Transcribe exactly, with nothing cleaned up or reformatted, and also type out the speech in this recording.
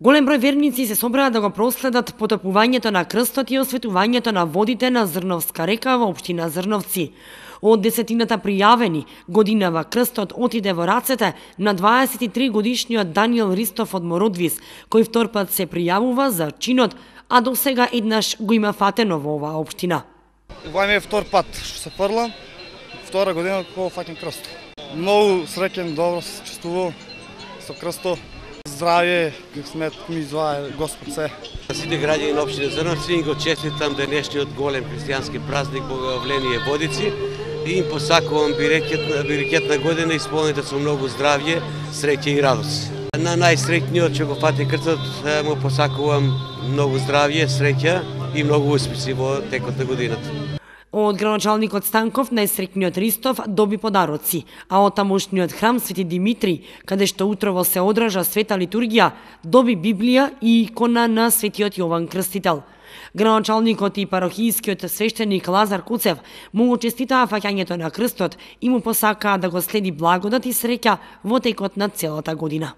Голем број верници се собраа да го проследат потопувањето на крстот и осветувањето на водите на Зрновска река во општина Зрновци. Од десетината пријавени, годинава крстот отиде во рацете на дваесет и три годишниот Даниел Ристов од Мородвис, кој втор пат се пријавува за чинот, а до сега еднаш го има фатено во оваа општина. Ова ми е втор пат што се фрлам, втора година кога фаќам крст. Многу среќен, добро се чувствувам со крстот. Здравје, смет ми извае Господ се. Сите граѓани на општина Зрновци го честитам денешниот голем христијански празник Богојавление Водици и им посакувам берекетна година исполнета со многу здравје, среќа и радост. На најсреќниот што го фати крстот му посакувам многу здравје, среќа и многу успеси во текот на годината. Од градоначалникот Станков најсреќниот Ристов доби подароци, а од тамошниот храм Свети Димитрий, каде што утрово се одража света литургија, доби Библија и икона на Светиот Јован Крстител. Градоначалникот и парохијскиот свештеник Лазар Куцев му честитаа фаќањето на крстот и му посакаа да го следи благодат и среќа во текот на целата година.